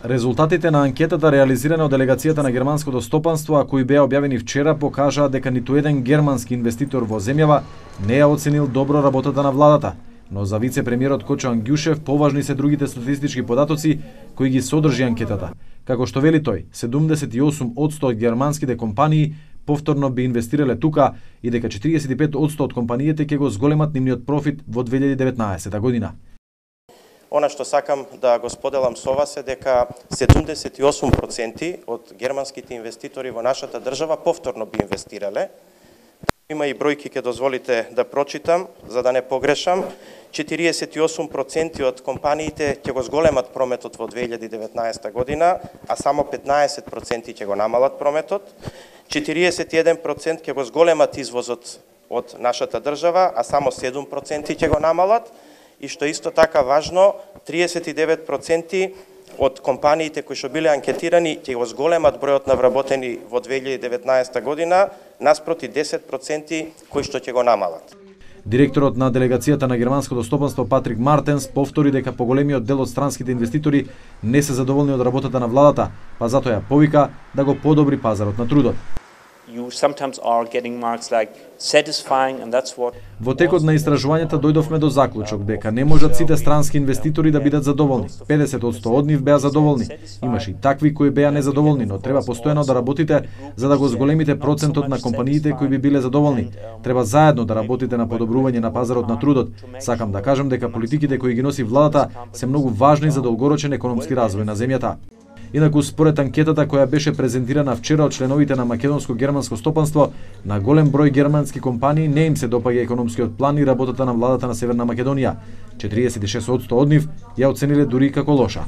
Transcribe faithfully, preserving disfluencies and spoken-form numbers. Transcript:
Резултатите на анкетата реализирана од делегацијата на германското стопанство, а кои беа објавени вчера, покажаа дека ниту еден германски инвеститор во земјава не ја оценил добро работата на владата. Но за вице-премиерот Кочо Ангјушев поважни се другите статистички податоци кои ги содржи анкетата. Како што вели тој, седумдесет и осум одсто од германските компании повторно би инвестирале тука и дека четиридесет и пет одсто од компаниите ќе го зголемат нивниот профит во две илјади и деветнаесетта година. Она што сакам да го споделам со вас е дека седумдесет и осум проценти од германските инвеститори во нашата држава повторно би инвестирале. Има и бројки, ќе дозволите да прочитам, за да не погрешам. четиридесет и осум проценти од компаниите ќе го зголемат прометот во две илјади и деветнаесетта година, а само петнаесет проценти ќе го намалат прометот. четиридесет и еден проценти ќе го зголемат извозот од нашата држава, а само седум проценти ќе го намалат. И што исто така важно, триесет и девет проценти од компаниите кои што биле анкетирани ќе го зголемат бројот на вработени во две илјади и деветнаесетта година, наспроти десет проценти кои што ќе го намалат. Директорот на делегацијата на германското стопанство Патрик Мартенс повтори дека поголемиот дел од странските инвеститори не се задоволни од работата на владата, па затоа ја повика да го подобри пазарот на трудот. You sometimes are getting marks like satisfying and that's what. Во текот на истражувањата дојдовме до заклучок дека не можат сите странски инвеститори да бидат задоволни. педесет одсто од нив беа задоволни. Имаше и такви кои беа незадоволни, но треба постојано да работите за да го зголемите процентот на компаниите кои би биле задоволни. Треба заедно да работите на подобрување на пазарот на трудот. Сакам да кажам дека политиките кои ги носи владата се многу важни за долгорочен економски развој на земјата. Инаку, според анкетата која беше презентирана вчера од членовите на македонско-германско стопанство, на голем број германски компании не им се допаѓа економскиот план и работата на владата на Северна Македонија. четиридесет и шест одсто од нив ја оцениле дури како лоша.